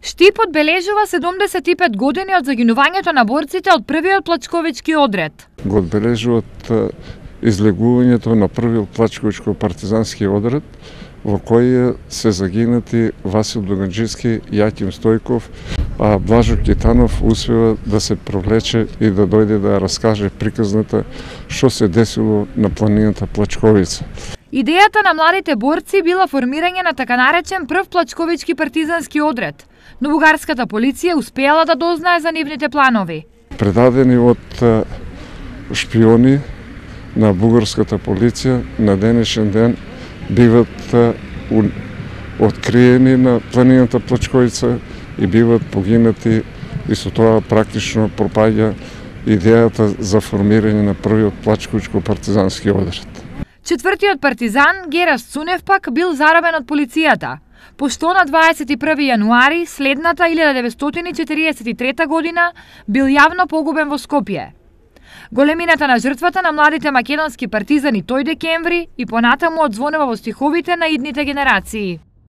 Штип одбележува 75 години од загинувањето на борците од првиот плачковички одред. Го одбележуваат излегувањето на првиот плачковичко-партизански одред, во кој се загинати Васил Дуганџиски, Јаким Стојков, а Блажо Китанов успева да се провлече и да дојде да раскаже приказната што се десило на планината Плачковица. Идејата на младите борци била формирање на така наречен прв плачковички партизански одред, но бугарската полиција успеала да дознае за нивните планови. Предадени од шпиони на бугарската полиција на денешен ден биват откриени на планината Плачковица и биват погинати, и со тоа практично пропаѓа идејата за формирање на првиот плачковичко-партизански одред. Четвртиот партизан, Гераст Цунев пак бил заробен од полицијата, пошто на 21 јануари следната 1943 година бил јавно погубен во Скопје. Големината на жртвата на младите македонски партизани тој декември и понатаму одзвонува во стиховите на идните генерации.